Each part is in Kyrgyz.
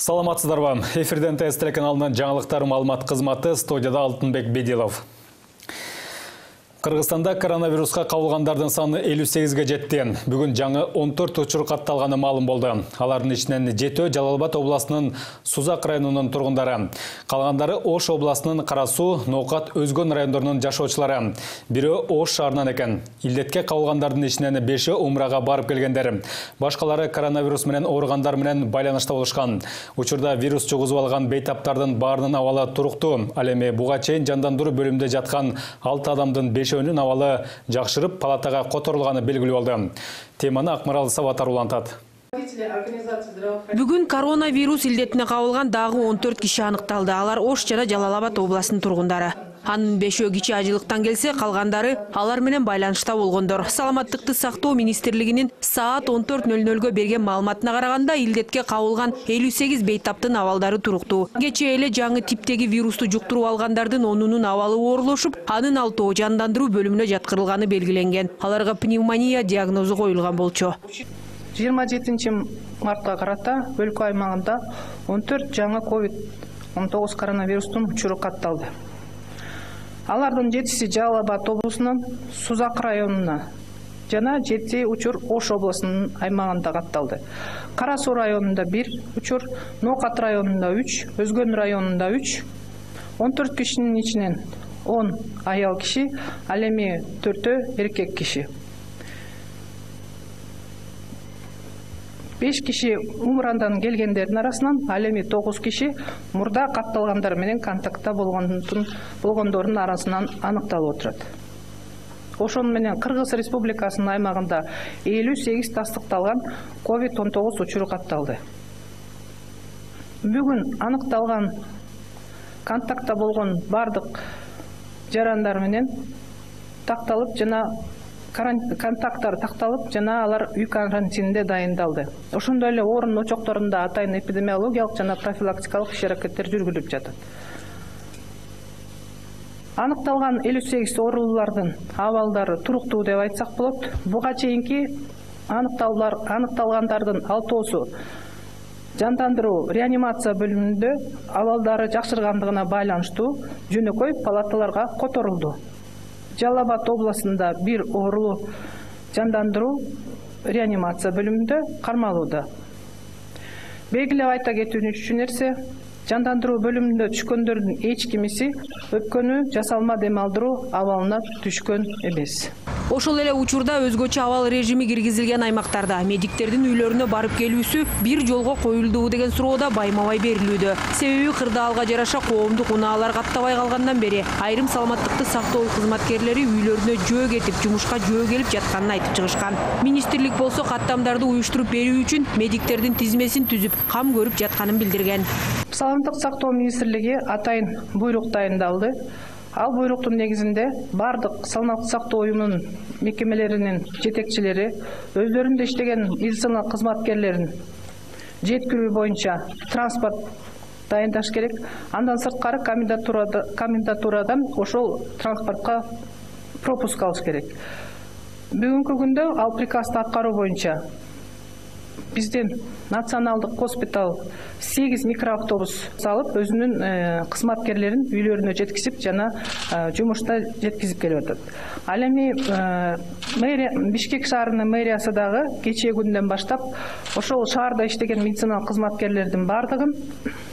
Саламатсыздарбы? Эфирден ТС телеканалынын жаңылыктар маалымат кызматы, студияда Алтынбек Бедилов. Кыргызстанда коронавируска кабылгандардын саны 58ге жетти. Бүгүн жаңы 14 учур катталганы маалым болду. Алардын ичинен 7 Жалал-Абад областынын Сузак районунун тургундары, калгандары Ош областынын Кара Суу, Ноокат, Өзгөн райондорунун жашоочулары. Бирөө Ош шаарынан экен. Илдетке кабылгандардын ичинен 5 умрага барып келгендер. Башкалары коронавирус менен ооругандар менен байланышта болушкан. Учурда вирус жугузуп алган бейтаптардын баарынын абалы туруктуу. Ал эми буга чейин жандандыруу бөлүмүндө жаткан 6 адамдын 5-өөнүн абалы жакшырып, палатага которулганы белгилүү болду. Теманы Акмарал Сабатар улантат. Бүгүн коронавирус илдетине кабылган дагы 14 киши аныкталды. Алар Ош жана Жалал-Абад областынын тургундары. Анын 5 киши ажылыктан келсе, калгандары алар менен байланышта болгондор. Саламаттыкты сактоо министрлигинин саат 14:00 берген маалыматына караганда, илдетке кабылган 58 бейтаптын абалдары туруктуу. Кечээ эле жаңы типтеги вирусту жуктуруп алгандардын 10-нун абалы оорлошуп, анын 6 жандандыруу бөлүмүнө жаткырылганы белгиленген. Аларга пневмония диагнозу коюлган болчу. 27 мартка карата өлкө аймагында 14 жаңы COVID-19 коронавирустун учуру катталды. Алардын 7-си Жалал-Абад облусунун Сузак районуна жана 7 учур Ош облусунун аймагында катталды. Кара Суу районунда 1 учур, Ноокат районунда 3, Өзгөн районунда 3, 14 кишинин ичинен 10 аял киши, ал эми 4 эркек киши. 5 киши умрандан келгендердин арасынан, ал эми 9 киши мурда катталгандар менен контактта болгондордун арасынан аныкталып отурат. Ошону менен Кыргыз Республикасынын аймагында 58 тастыкталган COVID-19 учуру катталды. Бүгүн аныкталган контактта болгон бардык жарандар менен такталып жана контакттар такталып жана алар үй карантининде дайындалды. Ошондой эле орун очокторунда атайын эпидемиологиялык жана профилактикалык иш-аракеттер жүргүзүлүп жатат. Аныкталган 58 оорулуулардын абалдары туруктуу деп айтсак болот. Буга чейинки аныкталгандардын 6-оосу жандандыруу реанимация бөлүмүндө абалдары жакшыргандыгына байланыштуу жөнөкөй палаталарга которулду. Жалал-Абад областында 1 оорулуу жандандыруу реанимация бөлүмүндө кармалууда. Белгилеп айта кетүүчү нерсе, жандандыруу бөлүмүндө түшкөндөрдүн эч кимиси өпкөнү жасалма дем алдыруу абалына түшкөн эмес. Ошол эле учурда өзгөчө абал режими киргизилген аймактарда медиктердин үйлөрүнө барып келүүсү бир жолго коюлдубу деген суроода байма-бай берилүүдө. Себеби кырдаалга жараша коомдук унаалар каттабай калгандан бери айрым саламаттыкты сактоо кызматкерлери үйлөрүнө жөө кетип, жумушка жөө келип жатканын айтып чыгышкан. Министрлик болсо каттамдарды уюштуруп берүү үчүн медиктердин тизмесин түзүп, кам көрүп жатканын билдирген. Саламаттык сактоо министрлиги атайын буйрук дайындалды. Ал буйруктун негизинде бардык саламаттык сактоо уюмунун мекемелеринин жетекчилери өздөрүндө иштеген медицина кызматкерлерин жеткирүү боюнча транспорт дайындаш керек. Андан сырткары комендатурадан ошол транспортко пропуск алыш керек. Бүгүнкү күндө ал приказды аткаруу боюнча биздин националдык госпиталь 8 микроавтобус салып, өзүнүн кызматкерлерин үйлөрүнө жеткизип жана жумушта жеткизип келип атат. Ал эми Бишкек шаарынын мэриясы дагы кечээ күндөн баштап ошол шаарда иштеген медициналык кызматкерлердин бардыгын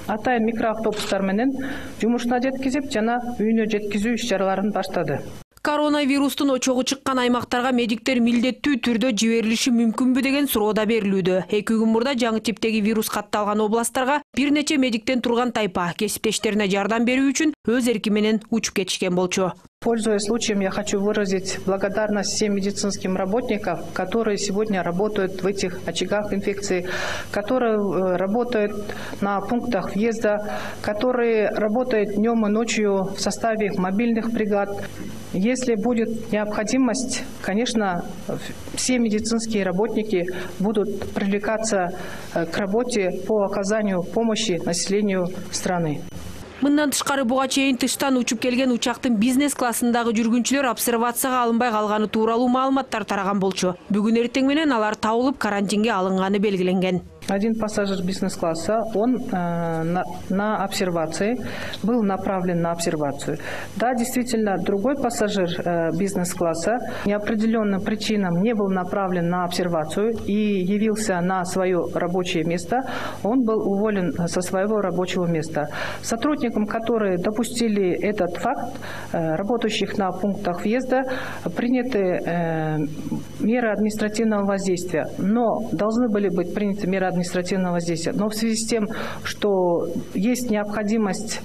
атайын микроавтобустар менен жумушуна жеткизип жана үйүнө жеткизүү иш-чараларын баштады. Коронавирустун очогу чыккан аймактарга медиктер милдеттүү түрдө жиберилиши мүмкүнбү деген суроо да берилүүдө. 2 күн мурда жаңы типтеги вирус катталган областтарга бир нече медиктен турган тайпа кесиптештерине жардам берүү үчүн өз эрки менен учуп кетишкен болчу. Пользуясь случаем, я хочу выразить благодарность всем медицинским работникам, которые сегодня работают в этих очагах инфекции, которые работают на пунктах въезда, которые работают днем и ночью в составе мобильных бригад. Если будет необходимость, конечно, все медицинские работники будут привлекаться к работе по оказанию помощи населению страны. Мындан тышкары буга чейин тыштан учуп келген учактын бизнес классындагы жүргүнчүлөр обсервацияга алынбай калганы тууралуу маалыматтар тараган болчу. Бүгүн эртең менен алар табылып карантинге алынганы белгиленген. Один пассажир бизнес-класса, он на обсервации, был направлен на обсервацию. Да, действительно, другой пассажир бизнес-класса неопределенным причинам не был направлен на обсервацию и явился на свое рабочее место, он был уволен со своего рабочего места. Сотрудникам, которые допустили этот факт, работающих на пунктах въезда, приняты меры административного воздействия, но должны были быть приняты меры административного воздействия. Но в связи с тем, что есть необходимость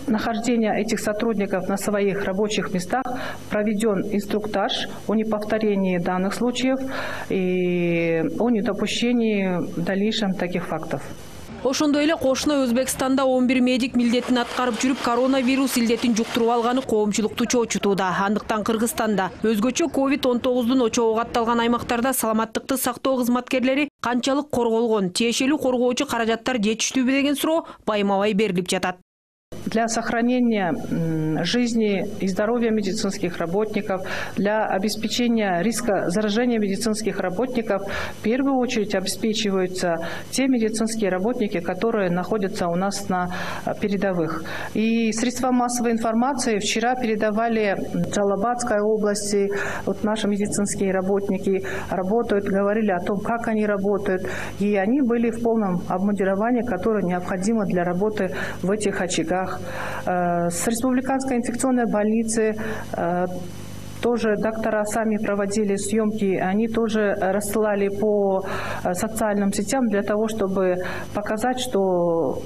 нахождения этих сотрудников на своих рабочих местах, проведен инструктаж о неповторении данных случаев и о недопущении в дальнейшем таких фактов. Ошондой эле кошуна Өзбекстанда 11 медик милдетин аткарып жүрүп коронавирус илдетин жуктуруп алганы коомчулукту чоочутууда. Андыктан Кыргызстанда өзгөчө COVID-19 очогу катталган аймактарда саламаттыкты сактоо кызматкерлери канчалык корголгон, тиешелүү коргоочу каражаттар жетиштүүбү деген суроо байма-бай берилип жатат. Для сохранения жизни и здоровья медицинских работников, для обеспечения риска заражения медицинских работников в первую очередь обеспечиваются те медицинские работники, которые находятся у нас на передовых. И средства массовой информации вчера передавали в Джалалабадской области, вот наши медицинские работники работают, говорили о том, как они работают, и они были в полном обмундировании, которое необходимо для работы в этих очагах. С республиканской инфекционной больницы тоже доктора сами проводили съемки, они тоже рассылали по социальным сетям для того, чтобы показать, что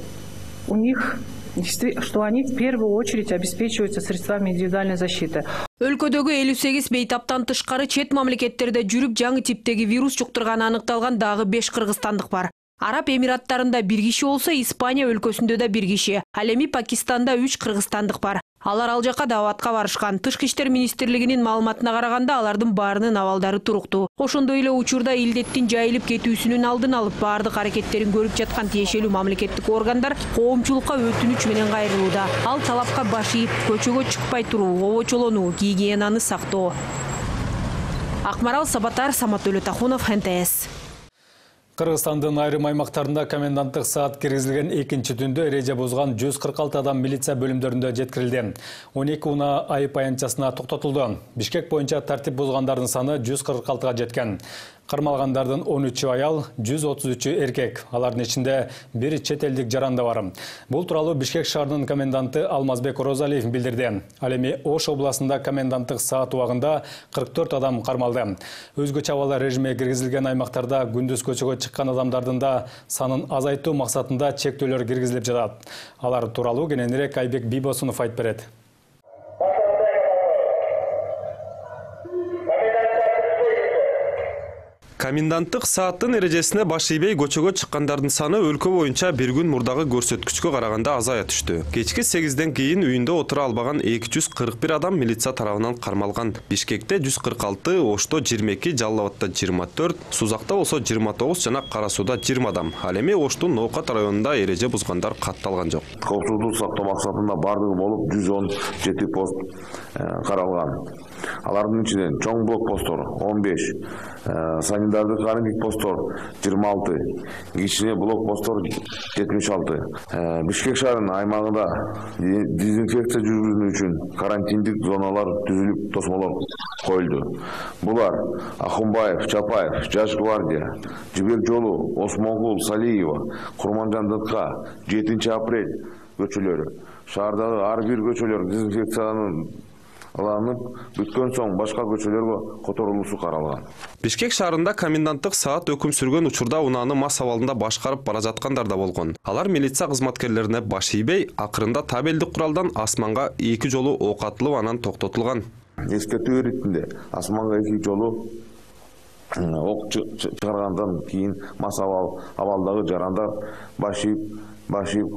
у них, что они в первую очередь обеспечиваются средствами индивидуальной защиты. Өлкөдөгү 58 бейтаптан тышкары чет мамлекеттерде жүрүп жаңы типтеги вирус жуктурганы аныкталган дагы 5 кыргызстандык бар. Араб Эмираттарында 1 киши болсо, Испания өлкөсүндө да 1 киши. Ал эми Пакистанда 3 кыргызстандык бар. Алар ал жака дааватка барышкан. Тышкы иштер министрлигинин маалыматына караганда, алардын баарынын абалдары туруктуу. Ошондой эле учурда илдеттин жайылып кетүүсүнүн алдын алып баардык аракеттерин көрүп жаткан тиешелүү мамлекеттик органдар коомчулукка өтүнүч менен кайрылууда. Ал талапка баш ийип, көчөгө чыкпай туруу, обочолонуу, гигиенаны сактоо. Акмарал Сабатар, Самат Өлөтахунов, НТС. Кыргызстандын айрым аймактарында коменданттык саат киргизилген экинчи түндө эреже бузган 146 адам милиция бөлүмдөрүндө жеткирилди. 12 унаа айып аянтчасына токтотулду. Бишкек боюнча тартип бузгандардын саны 146-га жеткен. Кармалгандардын 13 аял, 133 эркек. Алардын ичинде бир чет элдик жаранда бар. Бул тууралуу Бишкек шаарынын коменданты Алмазбек Розалиев билдирди. Ал эми Ош областында коменданттык саат убагында 44 адам кармалды. Өзгөчө абал режиме киргизилген аймактарда күндүз көчөгө чыккан адамдардын да санын азайтуу максатында чектөөлөр киргизилип жатат. Алар тууралуу кененирээк Айбек Бибосунов айтып берет. Коменданттык сааттын эрежесине баш ийбей көчөгө чыккандардын саны өлкө боюнча бир күн мурдагы көрсөткүчкө караганда азая түштү. Кечки 8ден кийин үйүндө отура албаган 241 адам милиция тарабынан кармалган. Бишкекте 146, Ошто 22, Жалал Абадта 24, Сузакта болсо 29 жана Кара Сууда 20 адам. Ал эми Оштун Ноокат районунда эреже бузгандар катталган жок. Коопсуздук сактоо максатында бардыгы болуп 117 пост каралган. Алардын ичинен чоң блокпосттор 15, санитардык кармик посттор 26, кичине блокпосттор 76. Бишкек шаарынын аймагында дезинфекция жүргүзүү үчүн карантиндик зоналар түзүлүп, тосмолор коюлду. Булар Ахунбаев, Чапаев, Жаш гвардия, Жибек жолу, Осмонгул, Салиева, Курманжандыкка 7 апрель көчөлөрү. Шаардагы ар бир көчөлөр дезинфекцияланып бүткөн соң башка көчөлөргө которулуусу каралган. Бишкек шаарында коменданттык саат өкүм сүргөн учурда унааны мас абалында башкарып бара жаткандар да болгон. Алар милиция кызматкерлерине баш ийбей, акырында табелдик куралдан асманга 2 жолу ок атылып анан токтотулган. Эскертүү иретинде асманга 2 жолу ок чыгаргандан кийин мас абалдагы жарандар баш ийип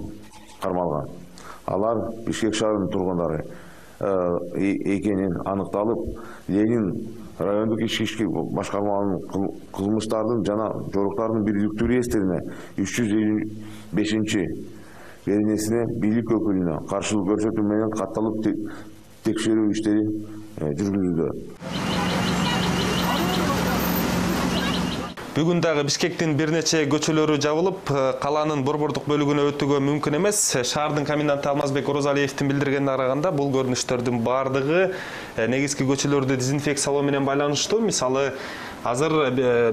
кармалган. Алар Бишкек шаарынын тургундары экенин аныкталып, Ленин райондук ички башкармаларынын кылмыштардын жана жоруктардын бирдиктүү реестрине 355 беренесине бийлик өкүлүнө каршылык көрсөтүү менен катталып текшерүү иштери жүргүзүлдү. Бүгүн дагы Бишкектин бир нече көчөлөрү жабылып, каланын борбордук бөлүгүнө өтүүгө мүмкүн эмес. Шаардын комменданты Алмазбек Орозалиевдин билдиргенине караганда, бул көрүнүштөрдүн бардыгы негизги көчөлөрдү дезинфекциялоо менен байланыштуу. Мисалы, азыр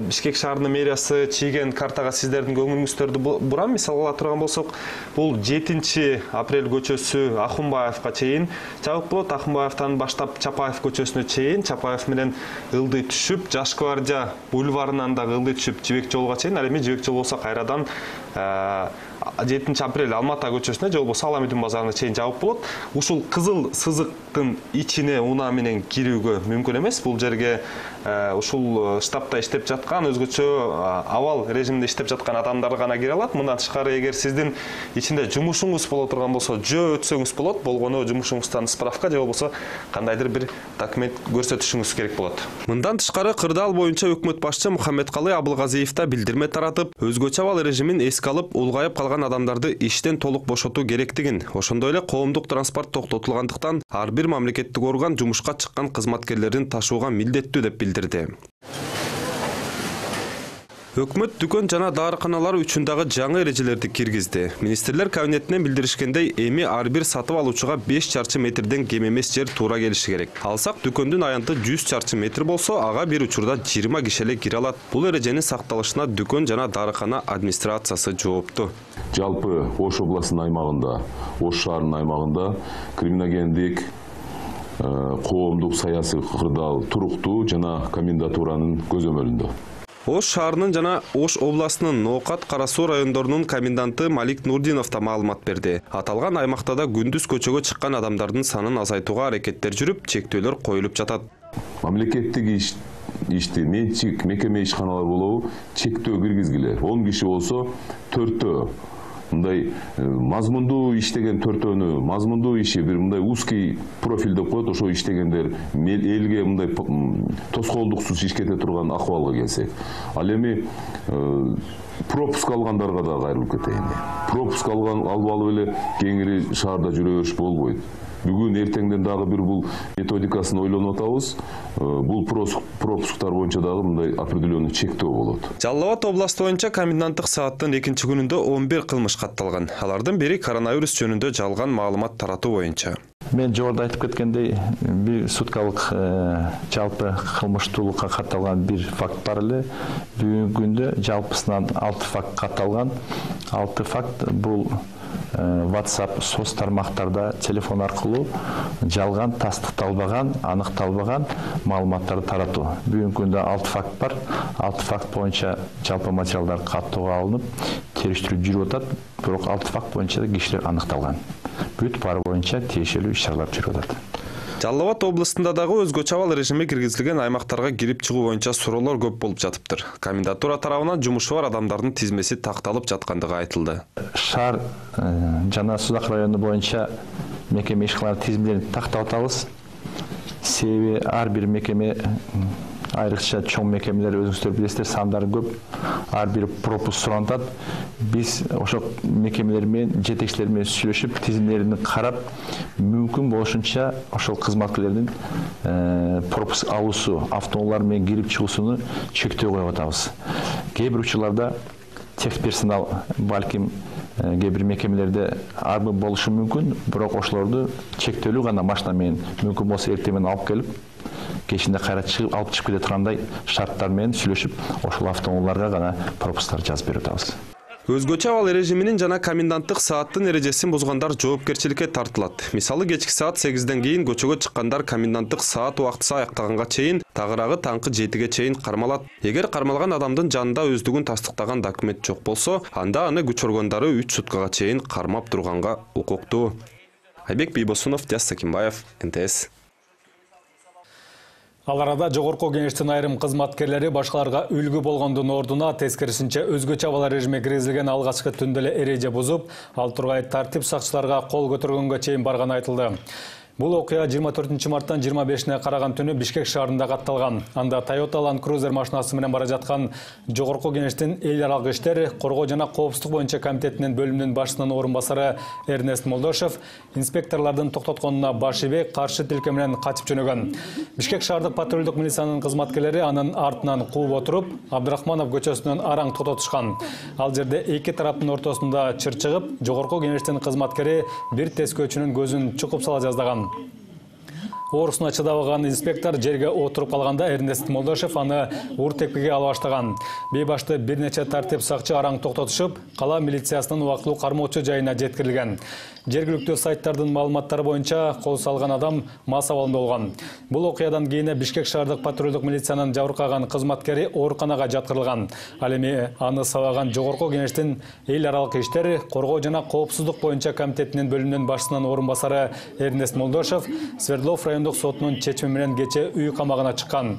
Бишкек шаарынын мэриясы чийген картага сиздердин көңүлүңүздөрдү бурам. Мисалга ала турган болсок, бул 7-апрель көчөсү Ахунбаевга чейин жабык болот. Ахунбаевтан баштап Чапаев көчөсүнө чейин, Чапаев менен Ылдый түшүп, Жаш Гвардия бульварынан дагы Ылдый түшүп Жибек жолуга чейин, ал эми Жибек жол болсо кайрадан 7-апрель Алмата көчөсүнө же болбосо Аламүдүн базарына чейин жабык болот. Ушул кызыл сызыктын ичине унаа менен кирүүгө мүмкүн эмес. Бул жерге ушул штабта иштеп жаткан, өзгөчө абал режимде иштеп жаткан адамдар гана кире алат. Мындан тышкары, эгер сиздин ичинде жумушуңуз боло турган болсо, жөө өтсөңүз болот. Болгону жумушуңуздан справка же болбосо кандайдыр бир документ көрсөтүшүңүз керек болот. Мындан тышкары, кырдаал боюнча өкмөт башчы Мухаммедкалы Абылгазиев да билдирме таратып, өзгөчө абал режимин эске алып, улгайып калган адамдарды иштен толук бошотуу керектигин, ошондой эле коомдук транспорт токтотулгандыктан ар бир мамлекеттик орган жумушка чыккан кызматкерлерин ташууга милдеттүү деп билдирди. Өкмөт дүкөн жана даарыканалар үчүн дагы жаңы эрежелерди киргизди. Министрлер кабинетинен билдиришкендей, эми ар бир сатып алуучуга 5 чарчы метрден кем эмес жер туура келиши керек. Алсак, дүкөндүн аянты 100 чарчы метр болсо, ага бир учурда 20 киши эле кире алат. Бул эреженин сакталышына дүкөн жана даарыкана администрациясы жоопту. Жалпы Ош областынын аймагында, Ош шаарынын аймагында криминогендик, коомдук саясий кырдаал туруктуу жана комендатуранын көзөмөлүндө. Ош шаарынын жана Ош областынын Ноокат, Кара Суу райондорунун коменданты Малик Нурдинов да маалымат берди. Аталган аймакта да күндүз көчөгө чыккан адамдардын санын азайтууга аракеттер жүрүп, чектөөлөр коюлуп жатат. Мамлекеттик ишти менчик мекеме ишканалар болобу чектөө киргизгиле. 10 киши болсо 4төө мындай мазмундуу иштеген 4төөнү, мазмундуу иши бир мындай узкий профиль деп коет, ошо иштегендер элге мындай тоскоолдуксуз ишкете турган акыбалга келсек. Ал эми пропуск алгандарга да кайрылып кетейин. Пропуск алып эле кеңири шаарда жүрө бериш болбойт. Бүгүн эртеңден дагы бир бул методикасын ойлонуп атабыз. Бул пропусктар боюнча дагы мындай определенный чектөө болот. Жалал Абад областы боюнча коменданттык сааттын 2-чи күнүндө 11 кылмыш катталган. Алардын бири коронавирус жөнүндө жалган маалымат таратуу боюнча. Мен жогоруда айтып кеткендей, бир суткалык жалпы кылмыштуулукка катталган бир факт бар эле. Бүгүнкү күндө жалпысынан 6 факт катталган. 6 факт бул WhatsApp соц тармактарда телефон аркылуу жалган, тастыкталбаган, аныкталбаган маалыматтарды таратуу. Бүгүнкү күндө 6 факт бар. 6 факт боюнча жалпы материалдар каттоого алынып, териштирүү жүрүп атат. Бирок 6 факт боюнча да кишилер аныкталган. Бүт баары боюнча тиешелүү иш-чаралар жүрүп атат. Жалал Абад областында дагы өзгөчө абал режими киргизилген аймактарга кирип чыгуу боюнча суроолор көп болуп жатыптыр. Комендатура тарабынан жумушу бар адамдардын тизмеси такталып жаткандыгы айтылды. Шаар жана Сузак району боюнча мекеме ишканалар тизимдерин тактап атабыз. Себеби ар бир мекеме, айрыкча чоң мекемелер, өзүңүздөр билесиздер, сандары көп. Ар бир пропуск сурантат. Биз ошо мекемелер менен, жетекчилер менен сүйлөшүп, тизимдерин карап, мүмкүн болушунча ошол кызматкерлердин пропуск алуусу, автоунаалар менен кирип чыгуусуну чектөө коюп атабыз. Кээ бир учурларда техперсонал балким кээ бир мекемелерде арбы болушу мүмкүн, бирок ошолорду чектөлүү гана машина менен мүмкүн болсо эртең менен алып келип, кечинде кайра чыгып, алып чыгып кете тургандай шарттар менен сүйлөшүп, ошол автоунааларга гана пропусктар жазып берип атабыз. Өзгөчө абал режиминин жана коменданттык сааттын эрежесин бузгандар жоопкерчиликке тартылат. Мисалы, кечки саат 8ден кийин көчөгө чыккандар коменданттык саат убактысы аяктаганга чейин, тагыраагы таңкы 7ге чейин кармалат. Эгер кармалган адамдын жанында өздүгүн тастыктаган документ жок болсо, анда аны күч органдары 3 суткага чейин кармап турганга укуктуу. Айбек Бийбосунов, Диас Сакимбаев, НТС. Ал арада жогорку кеңештин айрым кызматкерлери башкаларга үлгү болгондун ордуна тескерисинче өзгөчө абал режими киргизилген алгачкы түндө эле эреже бузуп, ал тургай тартип сакчыларга кол көтөргөнгө чейин барганы айтылды. Бул окуя 24 марттан 25-не караган түнү Бишкек шаарында катталган. Анда Toyota Land Cruiser машинасы менен бара жаткан Жогорку Кеңештин эл аралык иштер, коргоо жана коопсуздук боюнча комитетинин бөлүмүнүн башчысынын орун басары Эрнест Молдошев инспекторлордун токтотконуна баш ийбей каршы тилке менен качып жөнөгөн. Бишкек шаардык патрулдук милициянын кызматкерлери анын артынан кууп отуруп, Абдрахманов көчөсүнөн араң токтотушкан. Ал жерде эки тараптын ортосунда чыр чыгып, Жогорку Кеңештин кызматкери бир тескөөчүнүн көзүн чукуп сала жаздаган. Оорусуна чыдабаган инспектор жерге отуруп калганда Эрнест Молдошев аны ур тепкиге ала баштаган. Бейбашты бир нече тартип сакчы араң токтотушуп, кала милициясынын убактылуу кармоочу жайына жеткирилген. Жергиликтүү сайттардын маалыматтары боюнча кол салган адам мас абалында болгон. Бул окуядан кийин Бишкек шаардык патрулдук милициянын жабыркаган кызматкери ооруканага жаткырылган. Ал эми аны сабаган Жогорку Кеңештин эл аралык иштер, коргоо жана коопсуздук боюнча комитетинин бөлүмүнүн башчысынын орун басары Эрнест Молдошев Свердлов райондук сотунун чечими менен кече үй камагына чыккан.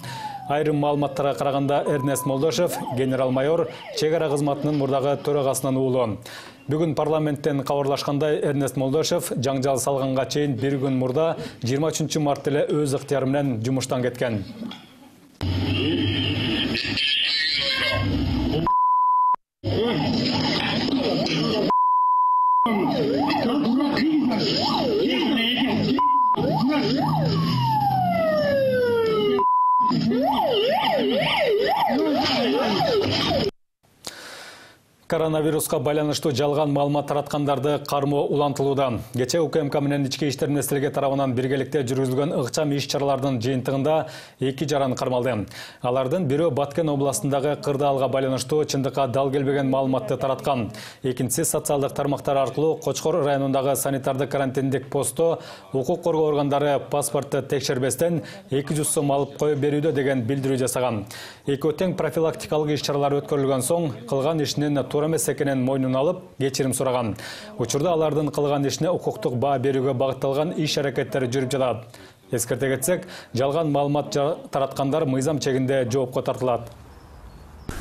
Айрым маалыматтарга караганда Эрнест Молдошев генерал-майор чек ара кызматынын мурдагы төрагасынын уулу. Бүгүн парламенттен кабарлашкандай Эрнест Молдошев жаңжал салганга чейин бир күн мурда 23 март эле өз ыктыяры менен жумуштан кеткен. Коронавируска байланыштуу жалган маалымат тараткандарды кармоо улантылууда. Кече УКМК менен ички иштер министрлиги тарабынан биргеликте жүргүзүлгөн ыкчам иш-чаралардын жыйынтыгында 2 жаран кармалды. Алардын бирөө Баткен областындагы кырдаалга байланыштуу чындыкка дал келбеген маалыматты тараткан. Экинчиси социалдык тармактар аркылуу Кочкор районундагы санитардык карантиндик постто укук коргоо органдары паспортты текшербестен 200 сом алып коюп берүүдө деген билдирүү жасаган. Экөө тең профилактикалык иш-чаралар өткөрүлгөн соң кылган ишинин туура эмес экенин мойнуна алып, кечирим сураган. Учурда алардын кылган ишине укуктук баа берүүгө багытталган иш-аракеттери жүрүп жатат. Эскерте кетсек, жалган маалымат тараткандар мыйзам чегинде жоопко тартылат.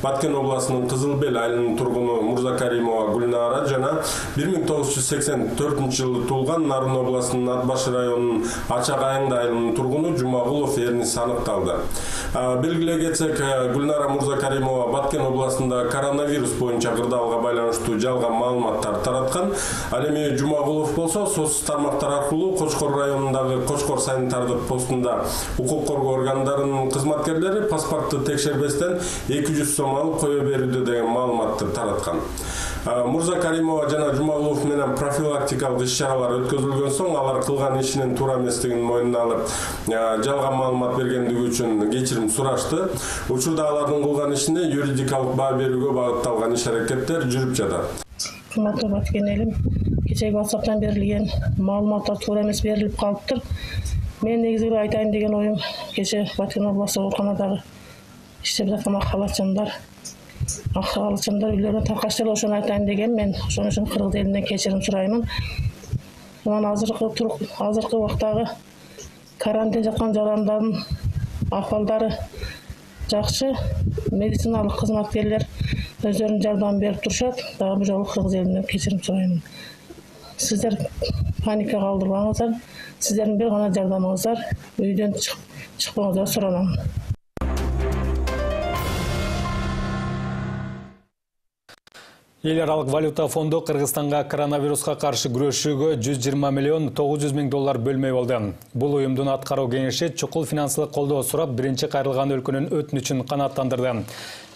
Баткен областынын Кызыл Бел айылынын тургуну Мурзакаримова Гүлнара жана 1984 жылы туулган Нарын областынын Ат Баш районунун Ачак Айыңды айылынын тургуну Жумагулов Эрнис аныкталды. Белгилей кетсек, Гүлнара Мурзакаримова Баткен областында коронавирус боюнча кырдаалга байланыштуу жалган маалыматтар тараткан. Ал эми Жумагулов болсо соцсуз тармактар аркылуу Кочкор районундагы Кочкор санитардык постунда укук коргоо органдарынын кызматкерлери паспортты текшербестен 200 сом алып кое берүүдө деген маалыматты тараткан. Мурзакаримова жана Жумагулов менен профилактикалык иш-чаралар өткөрүлгөн соң алар кылган ишинин туура эместигин мойнуна алып, жалган маалымат бергендиги үчүн кечирим сурашты. Учурда алардын кылган ишине юридикалык баа берүүгө багытталган иш-аракеттер жүрүп жатат. Кымбаттуу Баткен элим, кечеги WhatsApp'тан берилген маалыматтар туура эмес берилип калыптыр. Мен негизи айтайын деген оюм, кече Баткен областык ооруканадагы иштеп жаткан халатчандар үйлөрүнө таркаштыр, ошону айтайын деген мен ошон үчүн кыргыз элинен кечирим сураймын. Мына азыркы убактагы карантин жаткан жарандардын акыбалдары жакшы, медициналык кызматкерлер өздөрүнүн жардамын берип турушат. Дагы бул жолу кыргыз элинен кечирим сураймын. Сиздер паника калтырбаңыздар, сиздердин бир гана жардамыңыздар, үйдөн чыкпаңыздар суранам. Эл аралык валюта фонду Кыргызстанга коронавируска каршы күрөшүүгө 120 миллион 900 миң доллар бөлмөй болду. Бул уюмдун аткаруу кеңеши чукул финансылык колдоо сурап, биринчи кайрылган өлкөнүн өтүнүчүн канааттандырды.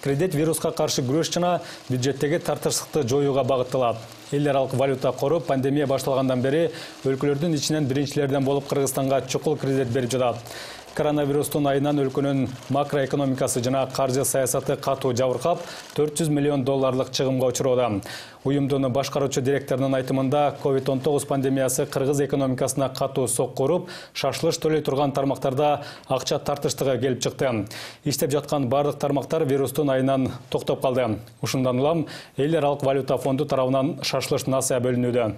Кредит вируска каршы күрөш жана бюджеттеги тартышсыздыкты жоюуга багытталат. Эл аралык валюта кору пандемия башталгандан бери өлкөлөрдүн ичинен биринчилерден болуп Кыргызстанга чукул кредит берип жатат. Коронавирустун айынан өлкөнүн макроэкономикасы жана каржы саясаты катуу жабыркап, 400 миллион долларлык чыгымга учуроодо. Уюмдун башкаруучу директорунун айтымында, COVID-19 пандемиясы кыргыз экономикасына катуу сокку уруп, шашылыш төлөй турган тармактарда акча тартыштыгы келип чыкты. Иштеп жаткан бардык тармактар вирустун айынан токтоп калды. Ушундан улам эл аралык валюта фонду тарабынан шашылыш насыя бөлүнүүдө.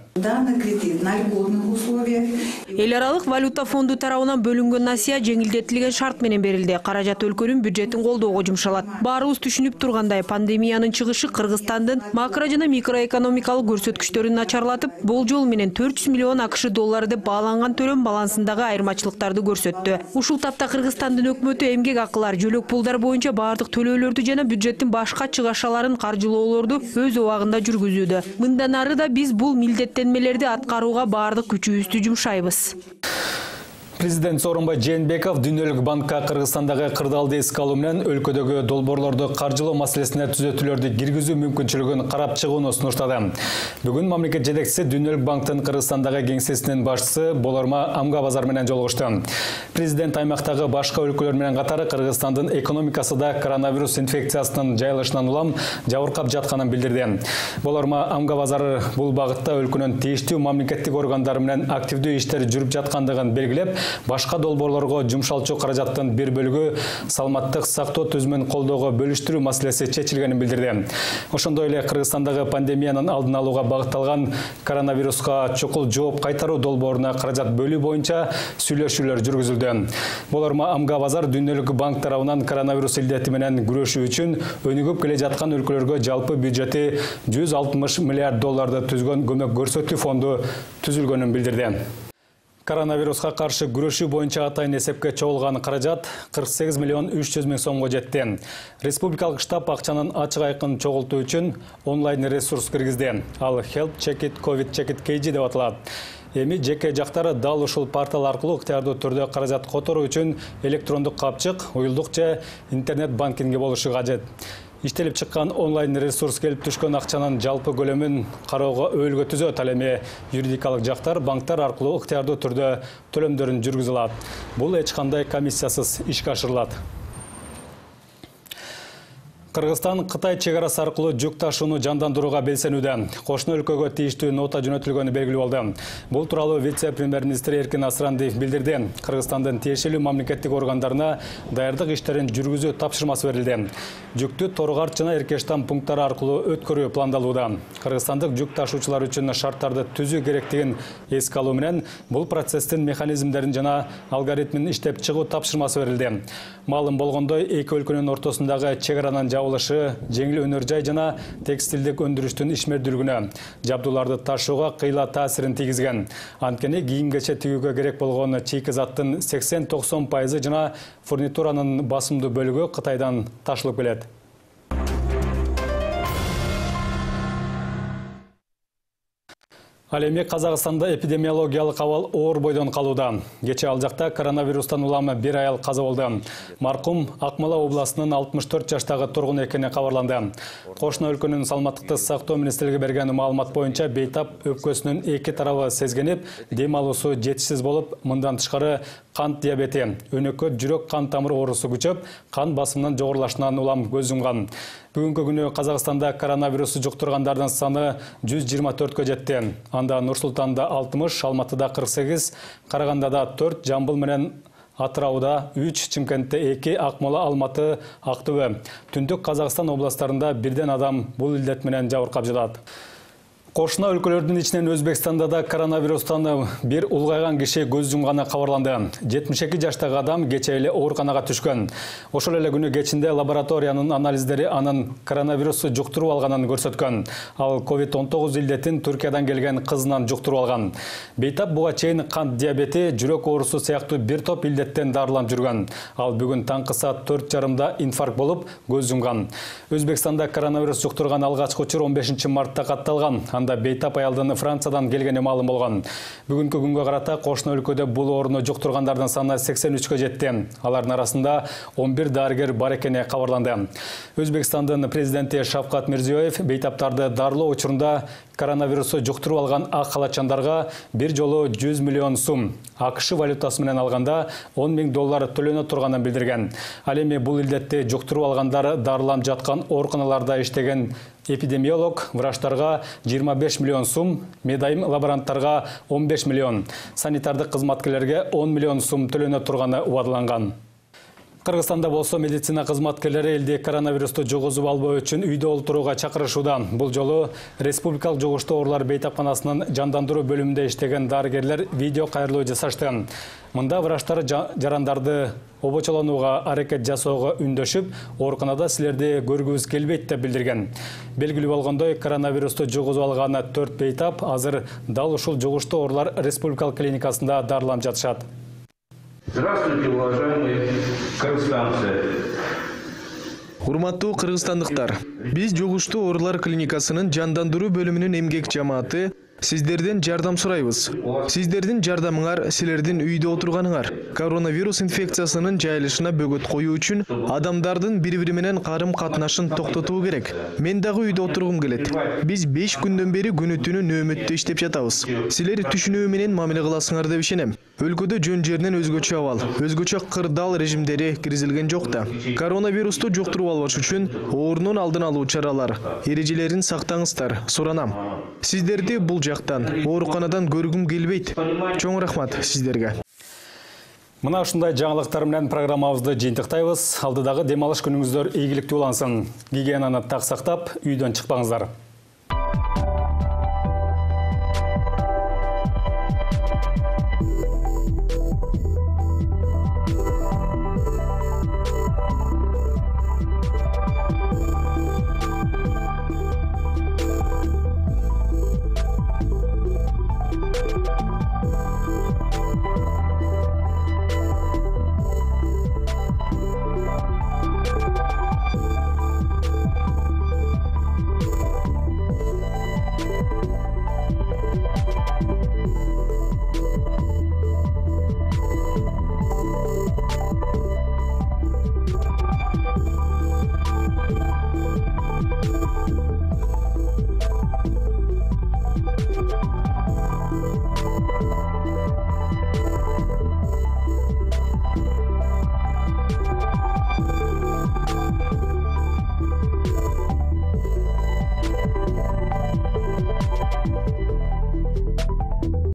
Эл аралык валюта фонду тарабынан бөлүнгөн насыя жеңил милдеттилген шарт менен берилди. Каражат өлкөнүн бюджетин колдоого жумшалат. Баарыбыз түшүнүп тургандай, пандемиянын чыгышы Кыргызстандын макро жана микроэкономикалык көрсөткүчтөрүн начарлатып, болжол менен 400 миллион АКШ доллары деп бааланган төлөм балансындагы айырмачылыктарды көрсөттү. Ушул тапта Кыргызстандын өкмөтү эмгек акылар, жөлөк пулдар боюнча баардык төлөөлөрдү жана бюджеттин башка чыгашаларын каржылоолорду өз убагында жүргүзүүдө. Мындан ары да биз бул милдеттенмелерди аткарууга баардык күчүбүздү жумшайбыз. Президент Сооронбай Жээнбеков Дүйнөлүк банкка Кыргызстандагы кырдаалды эске алуу менен өлкөдөгү долбоорлорду каржылоо маселесине түзөтүүлөрдү киргизүү мүмкүнчүлүгүн карап чыгууну сунуштады. Бүгүн мамлекет жетекчиси Дүйнөлүк банктын Кыргызстандагы кеңсесинин башчысы Болорма Амгабазар менен жолугушту. Президент аймактагы башка өлкөлөр менен катары Кыргызстандын экономикасы да коронавирус инфекциясынын жайылышынан улам жабыркап жатканын билдирди. Болорма Амгабазар бул багытта өлкөнүн тийиштүү мамлекеттик органдары менен активдүү иштер жүрүп жаткандыгын белгилеп, башка долбоорлорго жумшалчу каражаттын бир бөлүгү саламаттык сактоо түзүмүн колдоого бөлүштүрүү маселеси чечилгенин билдирди. Ошондой эле Кыргызстандагы пандемиянын алдын алууга багытталган коронавируска чукул жооп кайтаруу долбооруна каражат бөлүү боюнча сүйлөшүүлөр жүргүзүлдү. Болорма Амгабазар Дүйнөлүк банк тарабынан коронавирус илдети менен күрөшүү үчүн өнүгүп келе жаткан өлкөлөргө жалпы бюджети 160 миллиард долларды түзгөн көмөк көрсөтүү фонду түзүлгөнүн билдирди. Коронавируска каршы күрөшүү боюнча атайын эсепке чогулган каражат 48 миллион 300 миң сомго жетти. Республикалык штаб акчанын ачык айкын чогултуу үчүн онлайн ресурс киргизди. Ал Help Check It COVID Check It KG деп аталат. Эми жеке жактары дал ушул портал аркылуу ыктыярдуу түрдө каражат которуу үчүн электрондук капчык, уюлдук же интернет банкинги болушу кажет. Иштелип чыккан онлайн ресурс келип түшкөн акчанын жалпы көлөмүн кароого өөлгө түзөт. Ал эми юридикалык жактар банктар аркылуу ыктыярдуу түрдө төлөмдөрүн жүргүзө алат. Бул эч кандай комиссиясыз ишке ашырылат. Кыргызстан Кытай чегарасы аркылуу жүк ташууну жандандырууга белсенүүдө. Кошуна өлкөгө тийиштүү нота жөнөтүлгөнү белгилүү болду. Бул тууралуу вице-премьер-министр Эркин Асрандиев билдирди. Кыргызстандын тиешелүү мамлекеттик органдарына даярдык иштерин жүргүзүү тапшырмасы берилди. Жүктү Торгарт жана Эркештам пункттары аркылуу өткөрүү пландалууда. Кыргызстандык жүк ташуучулар үчүн шарттарды түзүү керектигин эске алуу менен бул процесстин механизмдерин жана алгоритмин иштеп чыгуу тапшырмасы берилди. Маалым болгондой, эки өлкөнүн ортосундагы чегаранын жабылышы жеңил өнөр жай жана текстилдик өндүрүштүн ишмердүүлүгүнө, жабдууларды ташууга кыйла таасирин тийгизген. Анткени кийим-кече тигүүгө керек болгон чийки заттын 80-90% жана фурнитуранын басымдуу бөлүгү Кытайдан ташылып келет. Ал эми Казакстанда эпидемиологиялык абал оор бойдон калууда. Кече ал жакта коронавирустан улам бир аял каза болду. Маркум Акмола областынын 64 жаштагы тургун экени кабарланды. Кошуна өлкөнүн саламаттыкты сактоо министрлиги берген маалымат боюнча бейтап өпкөсүнүн эки тарабы сезгенип, дем алуусу жетишсиз болуп, мындан тышкары кант диабети, өнөкөт жүрөк кан тамыр оорусу күчөп, кан басымынын жогорулашынан улам көз жумган. Бүгүнкү күнү Казакстанда коронавирусу жуктургандардын саны 124кө жетти. Анда Нур-Султанда 60, Алматыда 48, Карагандада 4, Жамбыл менен Атырауда 3, Чымкентте 2, Акмола, Алматы, Актөбө. Түндүк Казакстан областарында бирден адам бул илдет менен жабыркап жатат. Кошуна өлкөлөрдүн ичинен Өзбекстанда да коронавирустан бир улгайган киши көз жумганы кабарланды. 72 жаштагы адам кече эле ооруканага түшкөн. Ошол эле күнү кечинде лабораториянын анализдери анын коронавирусту жуктуруп алганын көрсөткөн. Ал COVID-19 илдетин Түркиядан келген кызынан жуктуруп алган. Бейтап буга чейин кант диабети, жүрөк оорусу сыяктуу бир топ илдеттен дарыланып жүргөн. Ал бүгүн таңкы саат 4:30 инфаркт болуп көз жумган. Өзбекстанда коронавирус жуктурган алгачкы учур 15 мартта катталган. Анда бейтап аялдын Франциядан келгени маалым болгон. Бүгүнкү күнгө карата кошуна өлкөдө бул ооруну жуктургандардын саны 83кө жетти. Алардын арасында 11 дарыгер бар экени кабарланды. Өзбекстандын президенти Шавкат Мирзиёев бейтаптарды дарылоо учурунда коронавирусу жуктуруп алган ак халатчандарга бир жолу 100 миллион сум, АКШ валютасы менен алганда 10 миң доллар төлөнө турганын билдирген. Ал эми бул илдетти жуктуруп алгандар дарыланып жаткан ооруканаларда иштеген эпидемиолог врачтарга 25 миллион сум, медайым лаборанттарга 15 миллион, санитардык кызматкерлерге 10 миллион сум төлөнө турганы убадыланган. Кыргызстанда болсо медицина кызматкерлери элде коронавирусту жугузуп албоо үчүн үйдө олтурууга чакырышууда. Бул жолу Республикалык жугуштуу оорулар бейтапканасынын жандандыруу бөлүмүндө иштеген дарыгерлер видео кайрылуу жасашты. Мында врачтар жарандарды обочолонууга аракет жасоого үндөшүп, ооруканада силерди көргүбүз келбейт деп билдирген. Белгилүү болгондой, коронавирусту жугузуп алган 4 бейтап азыр дал ушул жугуштуу оорулар республикалык клиникасында дарыланып жатышат. Здравствуйте, уважаемые кыргызстанцы. Урматтуу кыргызстандыктар, биз жугуштуу оорулар клиникасынын жандандыруу бөлүмүнүн эмгек жамааты сиздерден жардам сурайбыз. Сиздердин жардамыңар силердин үйдө отурганыңар. Коронавирус инфекциясынын жайылышына бөгөт коюу үчүн адамдардын бири-бири менен карым-катнашын токтотуу керек. Мен дагы үйдө отургум келет. Биз 5 күндөн бери күнү-түнү нөөмөттө иштеп жатабыз. Силер түшүнүү менен мамиле кыласыңар деп ишенем. Өлкөдө жөн жеринен өзгөчө абал, өзгөчө кырдаал режимдери киргизилген жок да. Коронавирусту жуктуруп албаш үчүн оорунун алдын алуу чаралар, эрежелерин сактаңыздар, суранам. Сиздерди бул жактан, ооруканадан көргүм келбейт. Чоң рахмат сиздерге. Мына ушундай жаңылыктар менен программабызды жыйынтыктайбыз. Алдыдагы дем алыш күнүңүздөр ийгиликтүү улансын. Гигиенаны так сактап, үйдөн чыкпаңыздар.